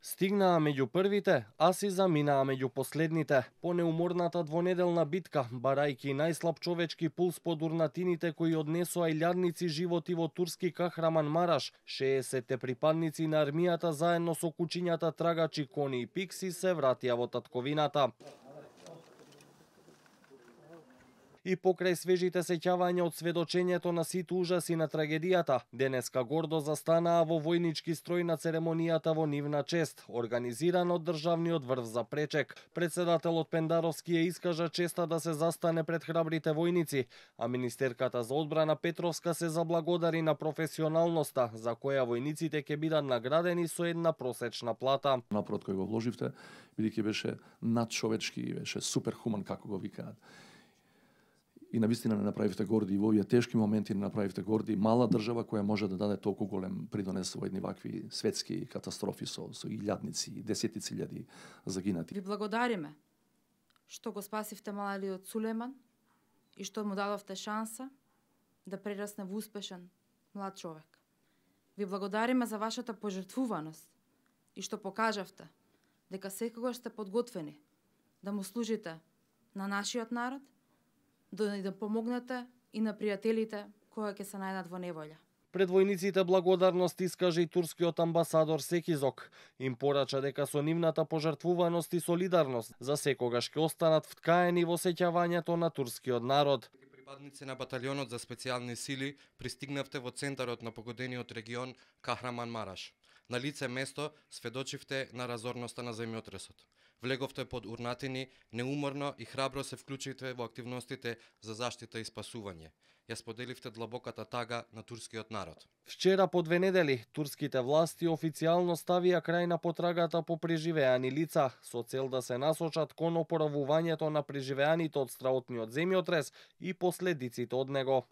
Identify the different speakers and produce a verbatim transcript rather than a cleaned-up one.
Speaker 1: Стигнаа меѓу првите, а си заминаа меѓу последните. По неуморната двонеделна битка, барајки најслаб човечки пулс под урнатините кои однесоа илјадници животи во турски Кахраманмараш, шеесетте припадници на армијата заедно со кучињата трагачи Кони и Пикси се вратија во татковината. И покрај свежите сеќавања од сведочењето на сите ужаси на трагедијата, денеска гордо застанаа во војнички строј на церемонијата во нивна чест, организирана од Државниот врв за Пречек. Председателот Пендаровски ја искажа честа да се застане пред храбрите војници, а министерката за одбрана Петровска се заблагодари на професионалноста, за која војниците ќе бидат наградени со една просечна плата.
Speaker 2: Напорот кој го вложивте, бидејќи беше надчовечки, беше суперхуман, како го викаат. И навистина не направивте горди, и во овие тешки моменти не направивте горди мала држава која може да даде толку голем придонес во едни вакви светски катастрофи со, со илјадници, десетици илјади загинати.
Speaker 3: Ви благодариме што го спасивте малиот Сулеман и што му дадовте шанса да прерасне во успешен млад човек. Ви благодариме за вашата пожртвуваност и што покажавте дека секогаш сте подготвени да му служите на нашиот народ, да ни да помогнете и на пријателите кои ќе се најдат во неволја.
Speaker 1: Пред војниците благодарност искажа и турскиот амбасадор Секизок. Им порача дека со нивната пожртвуваност и солидарност за секогаш ќе останат вткаени во сеќавањето на турскиот народ.
Speaker 4: Припадници на баталионот за специјални сили пристигнавте во центарот на погодениот регион Кахраманмараш. На лице место сведочивте на разорноста на земјотресот. Влеговте под урнатини, неуморно и храбро се вклучивте во активностите за заштита и спасување. Ја споделивте длабоката тага на турскиот народ.
Speaker 1: Вчера по две недели, турските власти официјално ставија крај на потрагата по преживеани лица, со цел да се насочат кон опоравувањето на преживеаните од страотниот земјотрес и последиците од него.